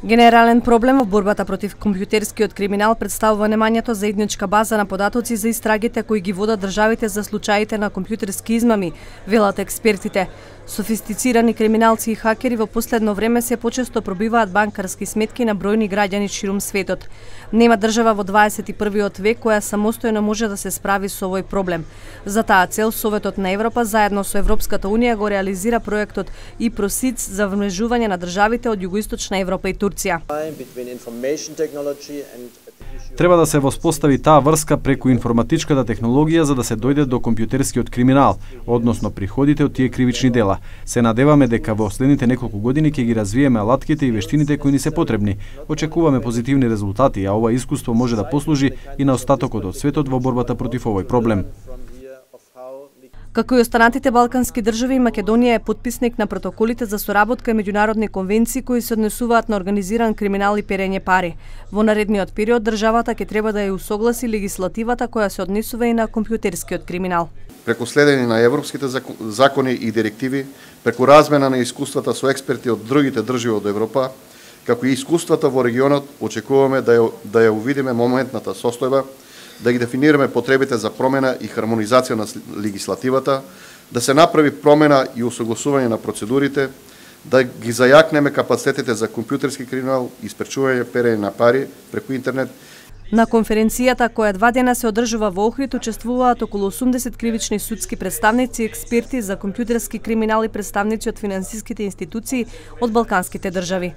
Генерален проблем во борбата против компјутерскиот криминал представува немањето заедничка база на податоци за истрагите кои ги водат државите за случаите на компјутерски измами, велат експертите. Софистицирани криминалци и хакери во последно време се почесто пробиваат банкарски сметки на бројни граѓани ширум светот. Нема држава во 21. век која самостојно може да се справи со овој проблем. За таа цел Советот на Европа заедно со Европската унија го реализира проектот ИПРОСИЦ за вмрежување на државите од Југоисточна Европа и Турција. Треба да се воспостави таа врска преку информатичката технологија за да се дојде до компјутерскиот криминал, односно приходите од тие кривични дела. Се надеваме дека во следните неколку години ќе ги развиеме алатките и вештините кои ни се потребни. Очекуваме позитивни резултати, а ова искуство може да послужи и на остатокот од светот во борбата против овој проблем. Како и останатите балкански држави, Македонија е потписник на протоколите за соработка и меѓународни конвенции кои се однесуваат на организиран криминал и перење пари. Во наредниот период државата ќе треба да ја усогласи легислативата која се однесува и на компјутерскиот криминал. Преку следење на европските закони и директиви, преку размена на искуствата со експерти од другите држави од Европа, како и искуствата во регионот, очекуваме да ја увидиме моментната состојба, да ги дефинираме потребите за промена и хармонизација на легислативата, да се направи промена и усогласување на процедурите, да ги зајакнеме капацитетите за компјутерски криминал и спречување перење на пари преку интернет. На конференцијата која 2 дена се одржува во Охрид учествуваат околу 80 кривични судски представници, експерти за компјутерски криминал и представници од финансиските институции од балканските држави.